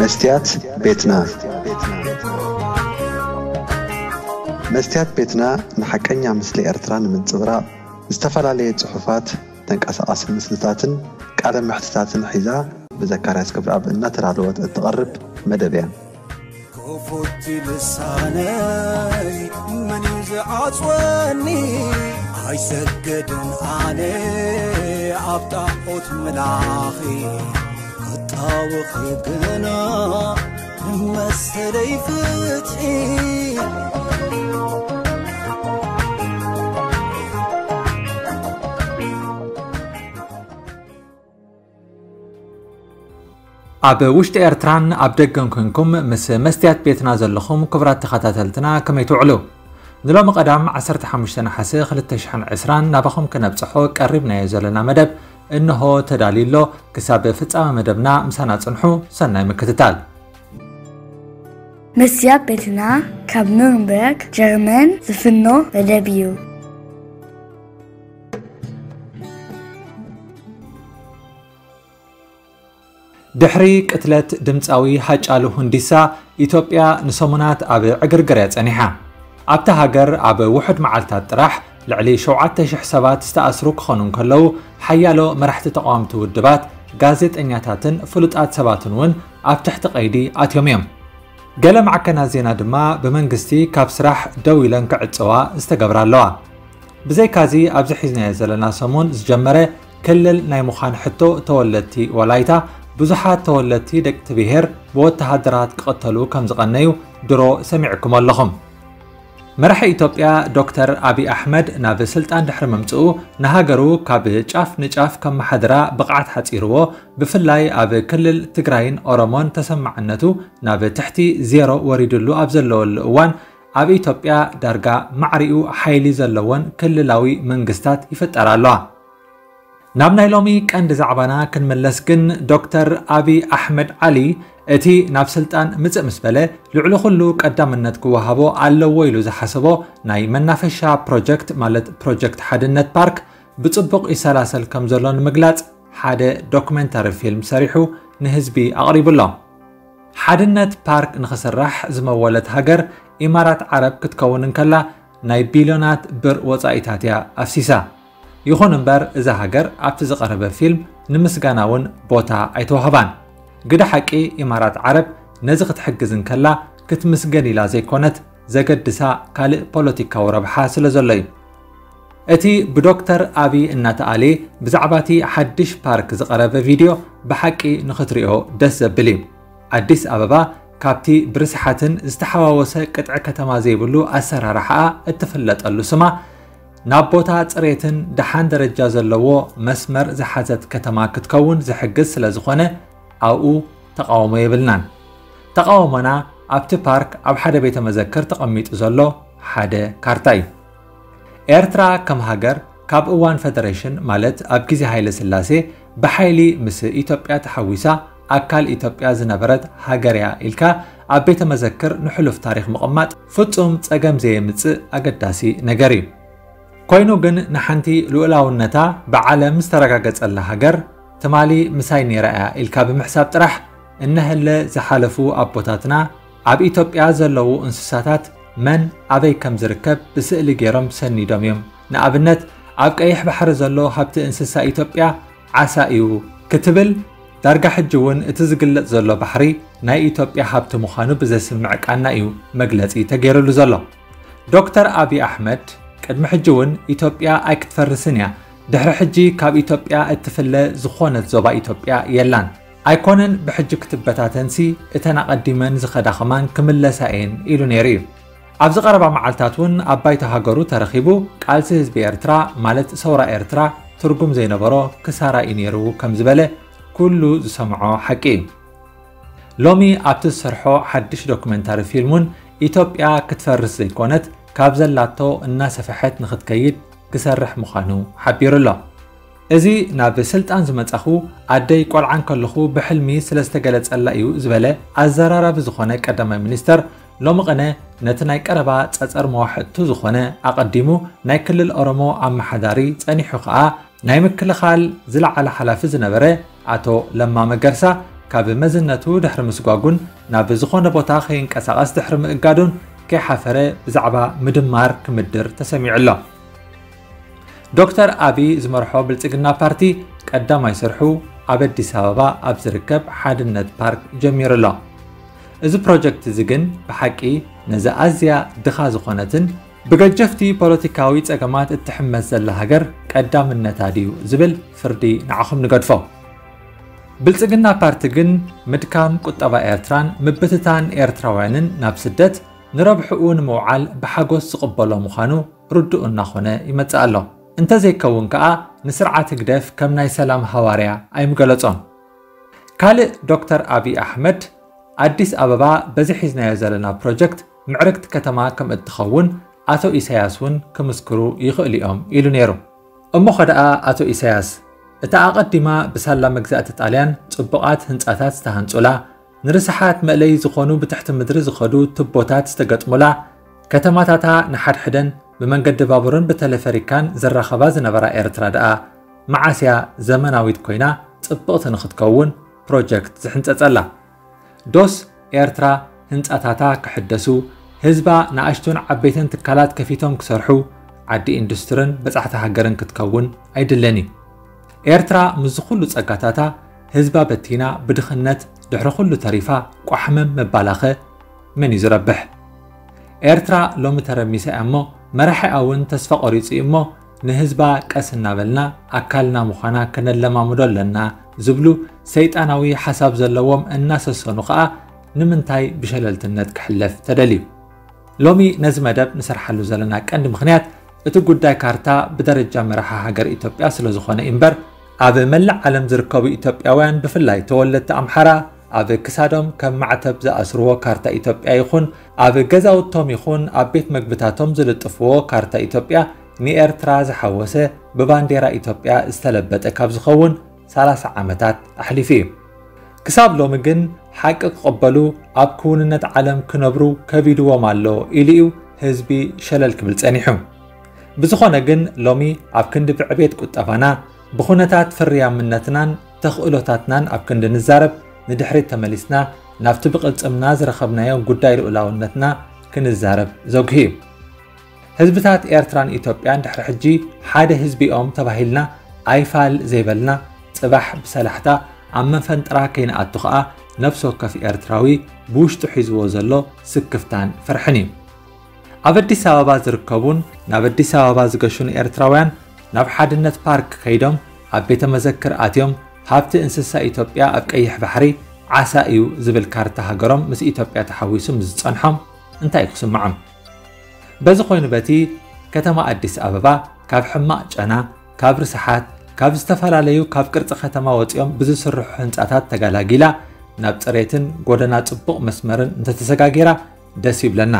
መስትያት ቤትና። መስትያት ቤትና ንሓቀኛ ምስሊ ኤርትራ ንምንጽብራቕ ዝተፈላለየ ጽሑፋት፣ ተንቀሳቓሲ ምስልታትን ቃለ መሕትታትን ሒዛ ብዘካርያስ ክብረኣብ እናተዳለወት እትቐርብ መደብ እያ። ክፉት ልሳነይ መን እዩ ዝዓጽወኒ? ኣይሰገድን ኣነ ኣብ ጣዖት ምላኺ፣ ክጣወኺ ግና ንመሰለይ ፍትሒ። ኣብ ውሽጢ ኤርትራን ኣብ ደገን ኮንኩም ምስ መስትያት ቤትና ዘለኹም ክቡራት ተኸታተልትና ከመይ ትውዕሉ? ንሎሚ ቀዳም ዓሰርተ ሓሙሽተ ነሓሰ ክልተ ሽሕን ዕስራን ናባኹም ክነብጽሖ ቀሪብናዮ ዘለና መደብ እንሆ ተዳልዩ ኣሎ። ክሳብ ፍጻመ መደብና ምሳና ጽንሑ። ሰናይ ምክትታል። መስትያት ቤትና ካብ ኑርንበርግ ጀርመን ዝፍኖ መደብ እዩ። ድሕሪ ቅትለት ድምጻዊ ሃጫሉ ሁንዲሳ፣ ኢትዮጵያ ንሰሙናት ኣብ ዕግርግር እያ ጸኒሓ። ኣብታ ሃገር ኣብ ውሑድ መዓልታት ጥራሕ ልዕሊ ሸውዓተ ሽሕ ሰባት ዝተኣስሩ ክኾኑ እንከለዉ፣ ሓያሎ መራሕቲ ተቓወምቲ ውድባት፣ ጋዜጠኛታትን ፍሉጣት ሰባትን እውን ኣብ ትሕቲ ቀይዲ ኣትዮም እዮም። ገለ ማዕከናት ዜና ድማ ብመንግስቲ ካብ ስራሕ ደው ኢለን ክዕጸዋ ዝተገብራ ኣለዋ። ብዘይካዚ ኣብዚ ሒዝናዮ ዘለና ሰሙን ዝጀመረ ክልል ናይ ምዃን ሕቶ ተወለድቲ ወላይታ፣ ብዙሓት ተወለድቲ ደቂ ብሄር ብወተሃደራት ክቕተሉ ከም ዝቐነዩ ድሮ ሰሚዕኩም ኣለኹም። መራሒ ኢትዮጵያ ዶክተር ኣቢይ ኣሕመድ ናብ ስልጣን ድሕሪ ምምጽኡ ንሃገሩ ካብ ጫፍ ንጫፍ ከመሓድራ ብቕዓት ሓጺርዎ፣ ብፍላይ ኣብ ክልል ትግራይን ኦሮሞን ተሰማዕነቱ ናብ ትሕቲ ዜሮ ወሪድሉ ኣብ ዘለወሉ እዋን፣ ኣብ ኢትዮጵያ ዳርጋ ማዕሪኡ ሓይሊ ዘለወን ክልላዊ መንግስታት ይፍጠራ ኣለዋ። ናብ ናይ ሎሚ ቀንዲ ዛዕባና ክንምለስ ግን፣ ዶክተር ኣቢይ ኣሕመድ ዓሊ እቲ ናብ ስልጣን ምጽእ ምስ በለ፣ ልዕሊ ኩሉ ቀዳምነት ክወሃቦ ኣለዎ ኢሉ ዝሓሰቦ ናይ መናፈሻ ፕሮጀክት፣ ማለት ፕሮጀክት ሓድነት ፓርክ፣ ብጽቡቕ ይሰላሰል ከም ዘሎ ንምግላጽ ሓደ ዶክመንታሪ ፊልም ሰሪሑ ንህዝቢ ኣቕሪቡ ኣሎ። ሓድነት ፓርክ ንኽስራሕ ዝመወለት ሃገር ኢማራት ዓረብ ክትከውን እንከላ፣ ናይ ቢልዮናት ብር ወጻኢታት እያ ኣፍሲሳ። ይኹን እምበር፣ እዛ ሃገር ኣብቲ ዝቐረበ ፊልም ንምስጋና እውን ቦታ ኣይተዋህባን። ግደ ሓቂ፣ ኢማራት ዓረብ ነዚ ክትሕግዝ እንከላ ክትምስገን ኢላ ዘይኮነት፣ ዘገድሳ ካልእ ፖለቲካዊ ረብሓ ስለ ዘሎ እዩ። እቲ ብዶክተር ኣቢይ እናተኣልየ ብዛዕባ እቲ ሓድሽ ፓርክ ዝቐረበ ቪድዮ ብሓቂ ንኽትሪኦ ደስ ዘብል እዩ። ኣዲስ ኣበባ ካብቲ ብርስሓትን ዝተሓዋወሰ ቅጥዒ ከተማ ዘይብሉ ኣሰራርሓኣ እትፍለጠሉ ስማ፣ ናብ ቦታ ጽሬትን ደሓን ደረጃ ዘለዎ መስመር ዝሓዘት ከተማ ክትከውን ዝሕግዝ ስለ ዝኾነ፣ ኣብኡ ተቓውሞ የብልናን። ተቓውሞና ኣብቲ ፓርክ ኣብ ሓደ ቤተ መዘክር ተቐሚጡ ዘሎ ሓደ ካርታ እዩ። ኤርትራ ከም ሃገር ካብ እዋን ፈደሬሽን፣ ማለት ኣብ ግዜ ሃይለ ስላሴ ብሓይሊ ምስ ኢትዮጵያ ተሓዊሳ ኣካል ኢትዮጵያ ዝነበረት ሃገር እያ ኢልካ ኣብ ቤተ መዘክር ንሕሉፍ ታሪኽ ምቕማጥ ፍጹም ጸገም ዘየምጽእ ኣገዳሲ ነገር እዩ። ኮይኑ ግን ንሓንቲ ልኡላውነታ ብዓለም ዝተረጋገጸላ ሃገር ትማሊ ምሳይ ነይራ እያ ኢልካ ብምሕሳብ ጥራሕ፣ እነሀለ ዝሓለፉ ኣቦታትና ኣብ ኢትዮጵያ ዘለዉ እንስሳታት መን ኣበይ ከም ዝርከብ ብስእሊ ገይሮም ሰኒዶም እዮም። ንኣብነት፣ ኣብ ቀይሕ ባሕሪ ዘሎ ሃብቲ እንስሳ ኢትዮጵያ ዓሳ እዩ ክትብል፣ ዳርጋ ሕጂ እውን እቲ ዝግለጽ ዘሎ ባሕሪ ናይ ኢትዮጵያ ሃብቲ ምዃኑ ብዘስምዕ ቃና እዩ መግለጺ ተገይሩሉ ዘሎ። ዶክተር ኣቢይ ኣሕመድ፣ ቅድሚ ሕጂ እውን ኢትዮጵያ ኣይክትፈርስን እያ፣ ድሕሪ ሕጂ ካብ ኢትዮጵያ እትፍለ ዝኾነት ዞባ ኢትዮጵያ የላን፣ ኣይኮነን ብሕጂ ክትበታተንሲ እተን ኣቐዲመን ዝኸዳ ከማን ክምለሳ እየን ኢሉ ነይሩ እዩ። ኣብዚ ቀረባ መዓልታት እውን ኣብ ባይቶ ሃገሩ ተረኺቡ፣ ቃልሲ ህዝቢ ኤርትራ፣ ማለት ሰውራ ኤርትራ፣ ትርጉም ዘይነበሮ ክሳራ እዩ ነይሩ ከም ዝበለ ኩሉ ዝሰምዖ ሓቂ እዩ። ሎሚ ኣብቲ ዝሰርሖ ሓድሽ ዶክመንታሪ ፊልም እውን ኢትዮጵያ ክትፈርስ ዘይኮነት፣ ካብ ዘላቶ እናሰፍሐት ንኽትከይድ ክሰርሕ ምዃኑ ሓቢሩ ኣሎ። እዚ ናብ ስልጣን ዝመጻኹ ኣደይ ቆልዓ እንከለኹ ብሕልሚ ስለ ዝተገለጸላ እዩ ዝበለ ኣዘራራቢ ዝኾነ ቀዳማይ ሚኒስተር፣ ሎሚ ቅነ ነቲ ናይ ቀረባ ጸጸር መዋሕጥቱ ዝኾነ ኣቐዲሙ ናይ ክልል ኦሮሞ ኣመሓዳሪ፣ ጸኒሑ ኸኣ ናይ ምክልኻል ዝለዓለ ሓላፊ ዝነበረ ኣቶ ለማ መገርሳ ካብ መዝነቱ ድሕሪ ምስጓጉን ናብ ዝኾነ ቦታ ከይንቀሳቐስ ድሕሪ ምእጋዱን ከይሓፈረ ብዛዕባ ምድማር ክምድር ተሰሚዑ ኣሎ። ዶክተር ኣቢ ዝመርሖ ብልጽግና ፓርቲ ቀዳማይ ስርሑ ኣብ ኣዲስ ኣበባ ኣብ ዝርከብ ሓድነት ፓርክ ጀሚሩ ኣሎ። እዚ ፕሮጀክት እዚ ግን ብሓቂ ነዚ ኣዝያ ድኻ ዝኾነትን ብገጀፍቲ ፖለቲካዊ ጸገማት እትሕመስ ዘላ ሃገር ቀዳምነታ ድዩ ዝብል ፍርዲ ንዓኹም ንገድፎ። ብልጽግና ፓርቲ ግን ምድካም ቁጠባ ኤርትራን ምብትታን ኤርትራውያንን ናብ ስደት ንረብሕኡ ንምውዓል ብሓጎስ ዝቕበሎ ምዃኑ ርዱእ እናኾነ ይመጽእ ኣሎ። እንተዘይከውን ከኣ ንስርዓት ህግደፍ ከም ናይ ሰላም ሃዋርያ ኣይምገለጾን። ካልእ ዶክተር ኣቢይ ኣሕመድ ኣዲስ ኣበባ በዚ ሒዝናዮ ዘለና ፕሮጀክት ምዕርግቲ ከተማ ከም እትኸውን ኣቶ ኢሳያስ እውን ክምስክሩ ይኽእሉ እዮም ኢሉ ነይሩ። እሞ ኸደኣ ኣቶ ኢሳያስ፣ እታ ኣቐዲማ ብሳላ መግዛእቲ ጣልያን ጽቡቓት ህንጻታት ዝተሃንጹላ፣ ንርስሓት መእለዪ ዝኾኑ ብትሕቲ ምድሪ ዝኸዱ ቱቦታት ዝተገጥሙላ፣ ከተማታታ ንሓድሕደን ብመንገዲ ባቡርን ብተለፈሪካን ዝራኸባ ዝነበራ ኤርትራ ደኣ መዓስ እያ ዘመናዊት ኮይና ጽብቕቲ ንኽትከውን ፕሮጀክት ዝሕንጸጸላ? ዶስ ኤርትራ ህንጻታታ ክሕደሱ፣ ህዝባ ንኣሽቱን ዓበይትን ትካላት ከፊቶም ክሰርሑ፣ ዓዲ ኢንዱስትርን በጻሕቲ ሃገርን ክትከውን ኣይድለን እዩ። ኤርትራ ምስዚ ኩሉ ጸጋታታ ህዝባ በቲና ብድኽነት ድሕሪ ኩሉ ተሪፋ ቋሕመም ምባላኸ መን እዩ ዝረብሕ? ኤርትራ ሎሚ ተረሚሳ እያ እሞ መራሒኣ እውን ተስፋ ቆሪጹ እዩ እሞ ንህዝባ ቀስ እናበልና ኣካልና ምዃና ከነለማምዶ ኣለና ዝብሉ ሰይጣናዊ ሓሳብ ዘለዎም እናሰሰኑ ከኣ ንምንታይ ብሸለልትነት ክሕለፍ ተደልዩ? ሎሚ ነዚ መደብ ንሰርሓሉ ዘለና ቀንዲ ምኽንያት እቲ ጉዳይ ካርታ ብደረጃ መራሒ ሃገር ኢትዮጵያ ስለ ዝኾነ እዩ እምበር ኣብ መላእ ዓለም ዝርከቡ ኢትዮጵያውያን ብፍላይ ተወለድቲ ኣምሓራ ኣብ ክሳዶም ከም ማዕተብ ዝኣስርዎ ካርታ ኢትዮጵያ ይኹን ኣብ ገዛውቶም ይኹን ኣብ ቤት መግብታቶም ዝልጥፍዎ ካርታ ኢትዮጵያ ንኤርትራ ዝሓወሰ ብባንዴራ ኢትዮጵያ ዝተለበጠ ካብ ዝኸውን ሰላሳ ዓመታት ኣሕሊፉ እዩ። ክሳብ ሎሚ ግን ሓቂ ክቕበሉ ኣብ ክውንነት ዓለም ክነብሩ ከቢድዎም ኣሎ ኢሉ እዩ ህዝቢ ሸለል ክብል ጸኒሑ። ብዝኾነ ግን ሎሚ ኣብ ክንዲ ብዕቤት ቁጠባና ብኹነታት ፍርያምነትናን ተኽእሎታትናን ኣብ ክንዲ ንዛረብ ንድሕሪት ተመሊስና ናብቲ ብቕልጽምና ዝረኸብናዮ ጉዳይ ልኡላውነትና ክንዛረብ ዘጉሂ እዩ። ህዝብታት ኤርትራን ኢትዮጵያን ድሕሪ ሕጂ ሓደ ህዝቢ እዮም ተባሂልና ኣይፋል ዘይበልና ጽባሕ ብሰላሕታ ኣብ መፈንጥራ ከይንኣቱ ኸኣ ነፍሲ ወከፍ ኤርትራዊ ብውሽጡ ሒዝዎ ዘሎ ስክፍታን ፍርሕን እዩ። ኣብ ኣዲስ ኣበባ ዝርከቡን ናብ ኣዲስ ኣበባ ዝገሹን ኤርትራውያን ናብ ሓድነት ፓርክ ከይዶም ኣብ ቤተ መዘክር ኣትዮም ሃብቲ እንስሳ ኢትዮጵያ ኣብ ቀይሕ ባሕሪ ዓሳ እዩ ዝብል ካርታ ሃገሮም ምስ ኢትዮጵያ ተሓዊሱ ምስ ዝጸንሖም እንታይ እዩ ክስምዖም? በዚ ኮይኑ በቲ ከተማ ኣዲስ ኣበባ ካብ ሕማቕ ጨና፣ ካብ ርስሓት፣ ካብ ዝተፈላለዩ ካብ ቅርጺ ከተማ ወጺኦም ብዝስርሑ ህንጻታት ተጋላጊላ ናብ ጽሬትን ጎደና ጽቡቕ መስመርን እንተተሰጋጊራ ደስ ይብለና።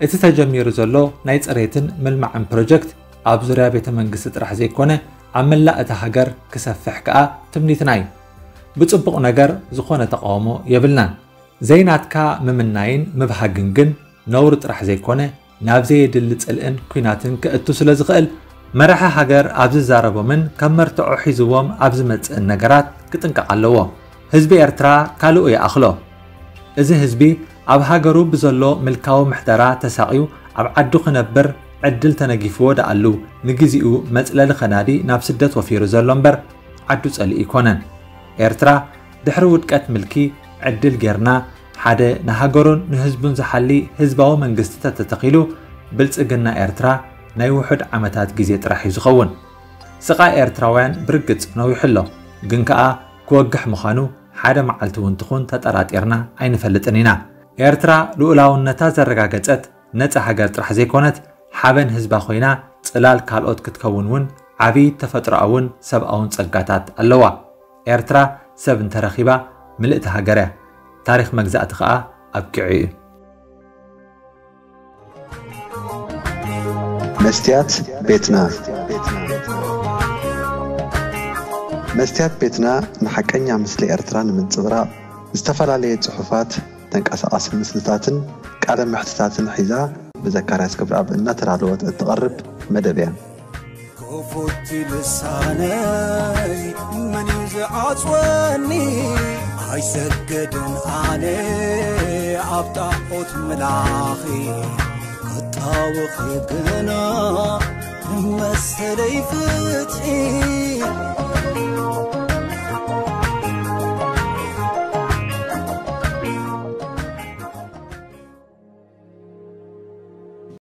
እቲ ተጀሚሩ ዘሎ ናይ ጽሬትን ምልማዕን ፕሮጀክት ኣብ ዙርያ ቤተ መንግስቲ ጥራሕ ዘይኮነ ኣብ መላእ እታ ሃገር ክሰፍሕ ከኣ ትምኒትና እዩ። ብጽቡቕ ነገር ዝኾነ ተቃውሞ የብልናን። ዘይናትካ ምምናይን ምብሃግን ግን ነውሪ ጥራሕ ዘይኮነ ናብ ዘየድሊ ጽልእን ኲናትን ከእቱ ስለ ዝኽእል መራሒ ሃገር ኣብ ዝዛረቦምን ከም መርትዖ ሒዝዎም ኣብ ዝመጽእን ነገራት ክጥንቀቕ ኣለዎ። ህዝቢ ኤርትራ ካልኡ ይኣኽሎ። እዚ ህዝቢ ኣብ ሃገሩ ብዘሎ ምልካዊ ምሕደራ ተሳቕዩ ኣብ ዓዱ ክነብር ዕድል ተነጊፍዎ ደኣሉ ንግዚኡ መጽለሊ ከናዲ ናብ ስደት ወፊሩ ዘሎ እምበር ዓዱ ጸሊኡ ኣይኮነን። ኤርትራ ድሕሪ ውድቀት ምልኪ ዕድል ጌርና ሓደ ንሃገሩን ንህዝቡን ዝሓሊ ህዝባዊ መንግስቲ ተተተኺሉ ብልጽግና ኤርትራ ናይ ውሑድ ዓመታት ግዜ ጥራሕ እዩ ዝኸውን። ስቓይ ኤርትራውያን ብርግጽ ነዊሑ ኣሎ፣ ግን ከኣ ክወግሕ ምዃኑ ሓደ መዓልቲ እውን ትኹን ተጠራጢርና ኣይንፈልጥን ኢና። ኤርትራ ልኡላውነታ ዘረጋገጸት ነጻ ሃገር ጥራሕ ዘይኮነት ሓበን ህዝባ ኮይና ጽላል ካልኦት ክትከውን እውን ዓቢ ተፈጥሮኣውን ሰብኣውን ጸጋታት ኣለዋ። ኤርትራ ሰብ እንተረኺባ ምልእቲ ሃገር እያ። ታሪኽ መግዛእቲ ከኣ ኣብቂዑ እዩ። መስትያት ቤትና። መስትያት ቤትና ንሓቀኛ ምስሊ ኤርትራ ንምንጽብራቕ ዝተፈላለየ ጽሑፋት፣ ተንቀሳቓሲ ምስልታትን ቃለ መሕትታትን ሒዛ ብዘካርያስ ክብረኣብ እናተዳለወት እትቐርብ መደብ እያ። ክፉት ልሳነይ መን እዩ ዝዓጽወኒ? ሰገድን ኣነ ኣብ ጣዖት ምላኺ ክጣወኺ ግና ንመሰለይ ፍትሒ